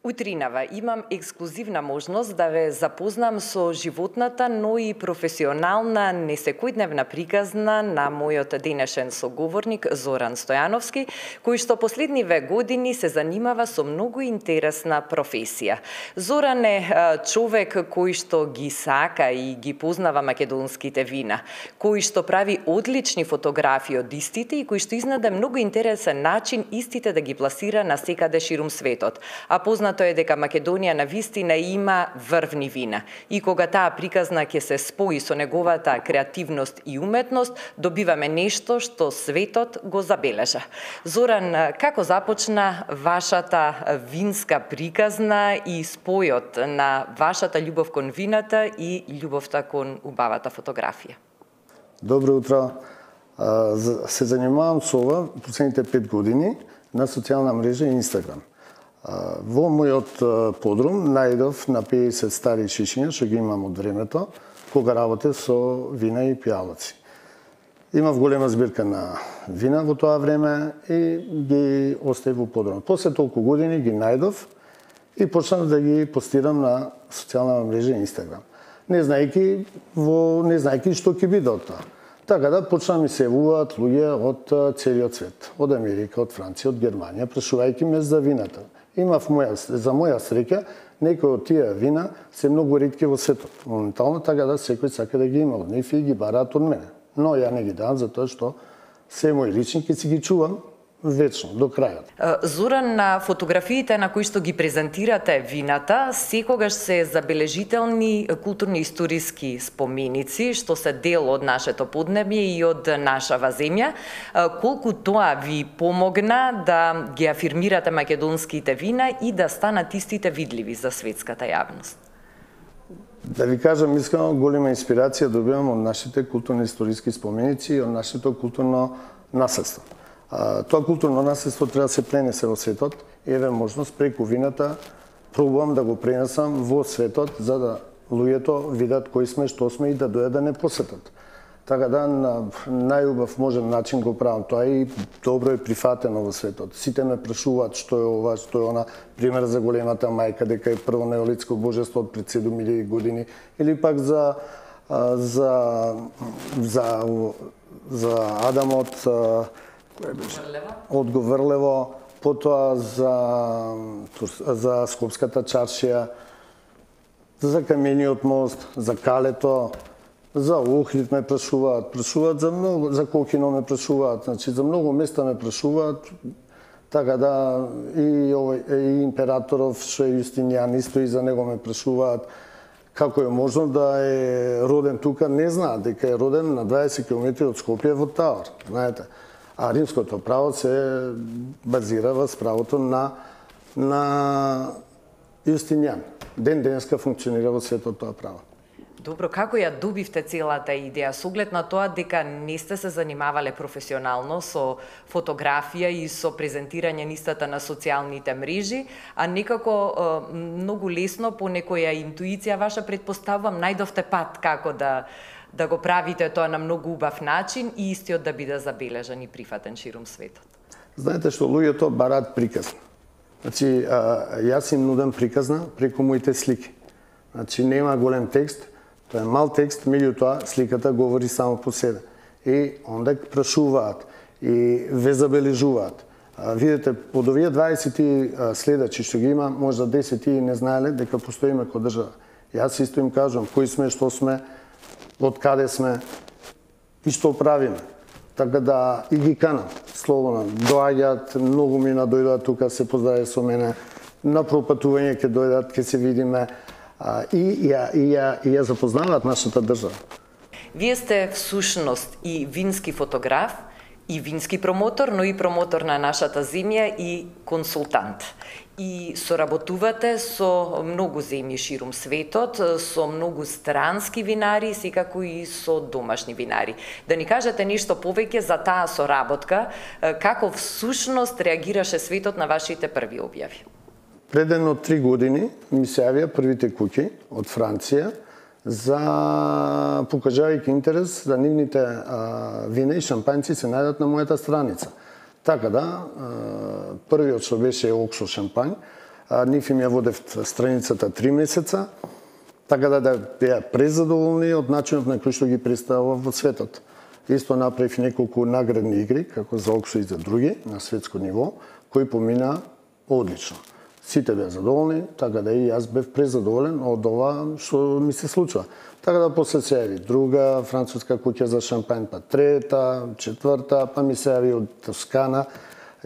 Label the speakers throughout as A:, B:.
A: Утринава имам ексклузивна можност да ве запознам со животната, но и професионална, несекојдневна приказна на мојот денешен соговорник Зоран Стојановски, кој што последниве години се занимава со многу интересна професија. Зоран е човек кој што ги сака и ги познава македонските вина, кој што прави одлични фотографии од истите и кој што изнаде многу интересен начин истите да ги пласира на секаде ширум светот. А познато е дека Македонија на вистина има врвни вина. И кога таа приказна ќе се спои со неговата креативност и уметност, добиваме нешто што светот го забележа. Зоран, како започна вашата винска приказна и спојот на вашата љубов кон вината и љубовта кон убавата фотографија?
B: Добро утро. Се занимавам со ова последните 5 години на социјална мрежа Инстаграм. Во мојот подрум најдов на 50 стари шишиња што ги имам од времето, кога работев со вина и пијалаци. Имав голема збирка на вина во тоа време и ги оставив во подрум. После толку години ги најдов и почнав да ги постирам на социјална мрежа Инстаграм. Не знаејќи што ќе биде од тоа. Така да почна ми се јавуваат луѓе од целиот свет, од Америка, од Франција, од Германија, прашувајќи ме за вината. Имав за моја среќа, некои од тие вина се многу ретки во светот. Моментално така да секој сака да ги има од нив и ги бараат од мене. Но ја не ги давам затоа што се мои лични ќе си ги чувам вечно, до крајот.
A: Зоран, на фотографиите на кои што ги презентирате вината, секогаш се забележителни културно-историски споменици, што се дел од нашето поднебје и од нашава земја. Колку тоа ви помогна да ги афирмирате македонските вина и да станат истите видливи за светската јавност?
B: Да ви кажам искрено, голема инспирација добивам од нашите културно-историски споменици и од нашето културно наследство. Тоа културно наследство треба да се пренесе во светот и еве можност преку вината пробувам да го пренесам во светот за да луѓето видат кои сме, што сме и да дојдат да не посетат. Така да на најубав можен начин го правам тоа и добро е прифатено во светот. Сите ме прашуваат што е ова, што е она, пример за големата мајка дека е прво неолитско божество од пред 7000 години или пак за Адамот од Говрлево, потоа за Скопската чаршија, за Камениот мост, за Калето, за Охрид ме прашуваат за многу, за Кокино ме прашуваат, значи за многу места ме прашуваат, така да и императоров што е Јустинијан исто и за него ме прашуваат. Како е можно да е роден тука, не знаат дека е роден на 20 км од Скопје во Таор, знаете. А римското право се базира во правото на Јустинијан. Денеска функционира во светот тоа право.
A: Добро, како ја добивте целата идеја? Со оглед на тоа дека не сте се занимавале професионално со фотографија и со презентирање нистата на социјалните мрежи, а некако многу лесно по некоја интуиција ваша предпоставувам најдовте пат како да го правите тоа на многу убав начин и истиот да биде забележан и прифатен ширум светот.
B: Знаете што луѓето бараат приказна. Значи, јас им нудам приказна преку моите слики. Значи, нема голем текст, тоа е мал текст, меѓутоа сликата говори само по себе. И онда прашуваат и ве забележуваат. Видете, од овие 20 следачи што ги има, можда 10 не знаеле дека постоиме како држава. Јас исто им кажам кои сме, што сме, од каде сме и што правиме. Така да и ги канам слободно. Доаѓаат, многу мина дојдат тука, се поздраве со мене. На пропатување ќе дојдат, ќе се видиме и ја запознаваат нашата држава.
A: Вие сте всушност и вински фотограф, и вински промотор, но и промотор на нашата земја и консултант. И соработувате со многу земји ширум светот, со многу странски винари, секако и со домашни винари. Да ни кажете нешто повеќе за таа соработка, како всушност реагираше светот на вашите први објави?
B: Пред едно 3 години ми се јавија првите куќи од Франција за покажувајќи интерес за нивните вина и шампањци се најдат на мојата страница. Така да, првиот што беше Окшо шампањ, нив им ја водев страницата 3 месеца, така да беа презадоволни од начинот на кој што ги представува во светот. Исто направив неколку наградни игри, како за Оксо и за други, на светско ниво, кои помина одлично. Сите беа задоволни, така да и јас бев презадоволен од ова што ми се случува. Така да после се јави друга француска куќа за шампањ, па трета, четврта, па ми се јави од Тоскана,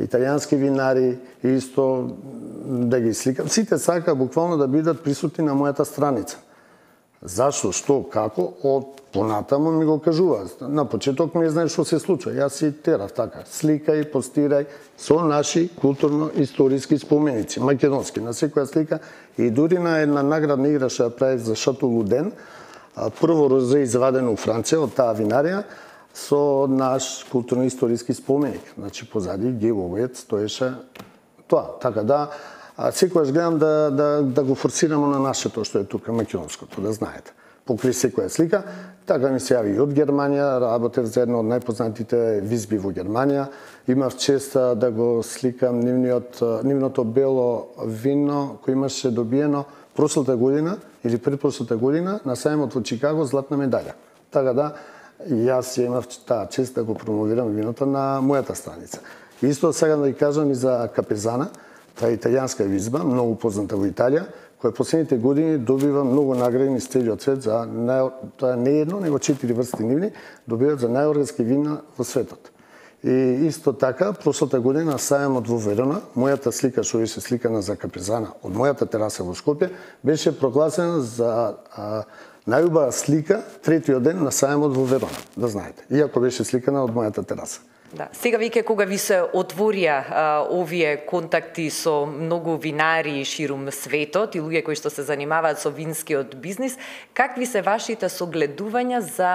B: италијански винари, исто да ги сликам. Сите сака буквално да бидат присутни на мојата страница. Зашто, што, како, од понатаму ми го кажува. На почеток не знаеш што се случува. Јас си терав така, сликај, постирај со наши културно-историски споменици, македонски, на секоја слика. И дури на една наградна игра што ја правив за Шато Луден, прво розе извадено у Франција од таа винарија, со наш културно-историски споменик. Значи, позади гивоует стоеше тоа. Така да, секојаш гледам да го форсираме на нашето што е тука, македонското, да знаете. Покри секоја слика, така ми се јави и од Германија, работев за едно од најпознатите визби во Германија. Имав чест да го сликам нивното бело вино кој имаше добиено прошлата година или предпрошлата година на сајмот во Чикаго златна медаља. Така да, јас имав таа чест да го промовирам виното на мојата страница. Исто сега да ви кажам и за Капезана, таа италијанска визба, многу позната во Италија, која последните години добива многу награди низ целиот свет за тоа не едно, него 4 врсти нивни добиваат за најоргански вина во светот. И исто така, прошлата година на сајмот во Верона, мојата слика што беше сликана за Капезана од мојата тераса во Скопје, беше прогласена за најубава слика третиот ден на сајмот во Верона, да знаете. Иако беше сликана од мојата тераса.
A: Да. Сега веќе кога ви се отворија овие контакти со многу винари ширум светот и луѓе кои што се занимаваат со винскиот бизнис, какви се вашите согледувања за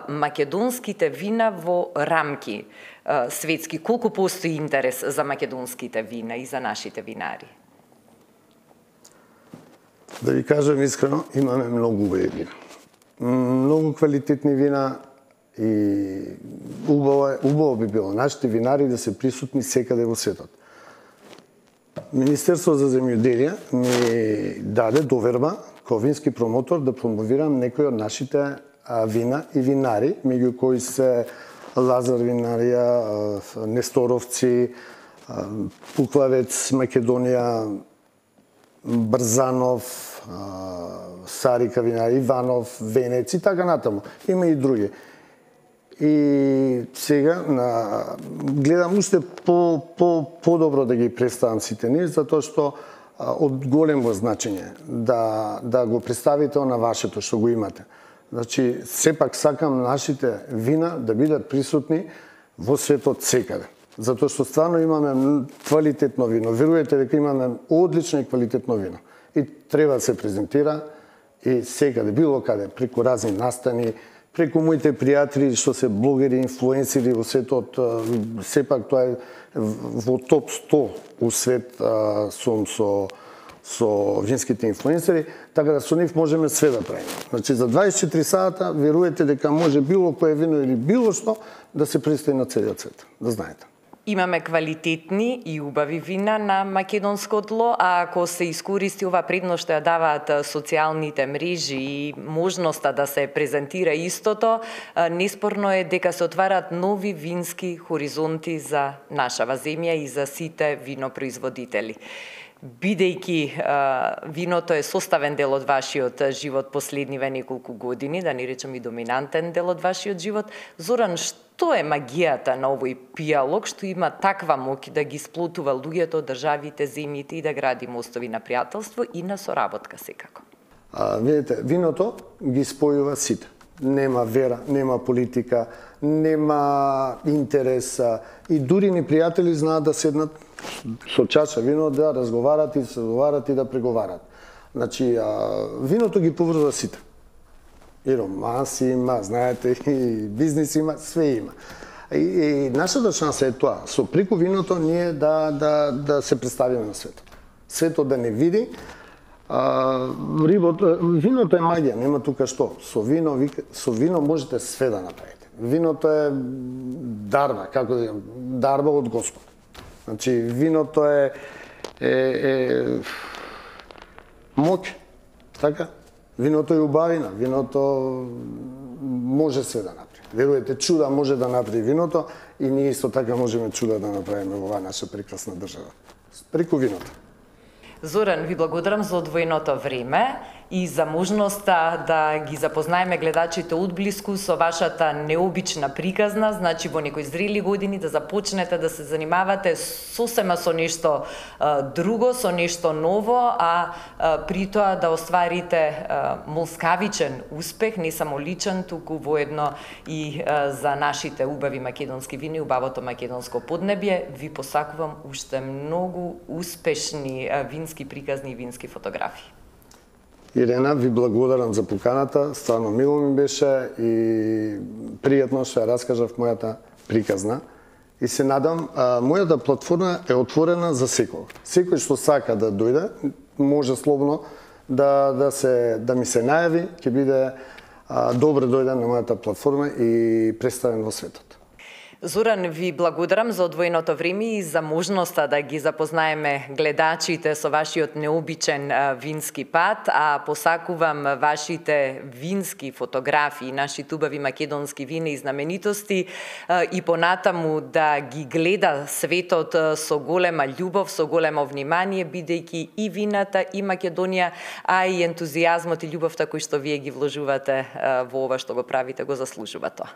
A: македонските вина во рамки светски? Колку постои интерес за македонските вина и за нашите винари?
B: Да ви кажам искрено, имаме многу убави вина. Многу квалитетни вина и убаво би било нашите винари да се присутни секаде во светот. Министерство за земјоделие ми даде доверба како вински промотор да промовирам некои од нашите вина и винари, меѓу кои се Лазар винарија, Несторовци, Пуклавец, Македонија, Брзанов, Сарика винари, Иванов, Венец и така натаму. Има и други. И сега гледам уште подобро да ги представам сите нив, затоа што од големо значење да го представите на вашето што го имате. Значи, сепак сакам нашите вина да бидат присутни во светот секаде. Затоа што стварно имаме квалитетно вино. Верувате дека имаме одлично и квалитетно вино. И треба да се презентира и секаде, било каде, преку разни настани, преку моите пријатели што се блогери, инфлуенсери во светот, сепак тоа е во топ 100 у свет сум со винските инфлуенсери, така да со нив можеме све да правиме. Значи за 24 сата верувате дека може било кое вино или било што да се представи на целиот свет, да знаете.
A: Имаме квалитетни и убави вина на македонско тло, а ако се искористи ова предност што ја даваат социјалните мрежи и можноста да се презентира истото, неспорно е дека се отвараат нови вински хоризонти за нашава земја и за сите винопроизводители. Бидејќи виното е составен дел од вашиот живот последниве неколку години, да не речем и доминантен дел од вашиот живот, Зоран, што е магијата на овој пијалок што има таква моќ да ги сплотува луѓето, државите, земјите и да гради мостови на пријателство и на соработка секако?
B: Видите, виното ги спојува сите. Нема вера, нема политика, нема интерес и дури ни пријатели знаат да седнат со чаша вино да разговарат и соговарат и да преговарат. Значи, виното ги поврзува сите. И романси има, знаете, и бизнис има, све има. И нашата шанса е тоа, со преку виното ние да се представиме на светот. Светот да не види. Виното е магија, нема тука што. Со вино можете све да направите. Виното е дарба, како да дарба од Господ. Значи, виното е е моќ, така? Виното е убавина, виното може се да направи. Веруете, чуда може да направи виното и ние исто така можеме чуда да направиме во оваа наша прекрасна држава. Преку виното.
A: Зоран, ви благодарам за одвоеното време и за можноста да ги запознаеме гледачите одблиску со вашата необична приказна, значи во некои зрели години да започнете да се занимавате сосема со нешто друго, со нешто ново, а при тоа да остварите молскавичен успех, не само личен, туку воедно и за нашите убави македонски вини и убавото македонско поднебје. Ви посакувам уште многу успешни вински приказни и вински фотографии.
B: Ирена, ви благодарам за поканата, стварно мило ми беше и пријатно што ја раскажав мојата приказна. И се надам, мојата платформа е отворена за секој. Секој што сака да дојде, може слободно да ми се најави, ќе биде добро дојден на мојата платформа и представен во светот.
A: Зоран, ви благодарам за одвоеното време и за можноста да ги запознаеме гледачите со вашиот необичен вински пат, а посакувам вашите вински фотографии, нашите убави македонски вина и знаменитости и понатаму да ги гледа светот со голема љубов, со големо внимание, бидејќи и вината, и Македонија, а и ентузијазмот и љубовта кои што вие ги вложувате во ова што го правите, го заслужува тоа.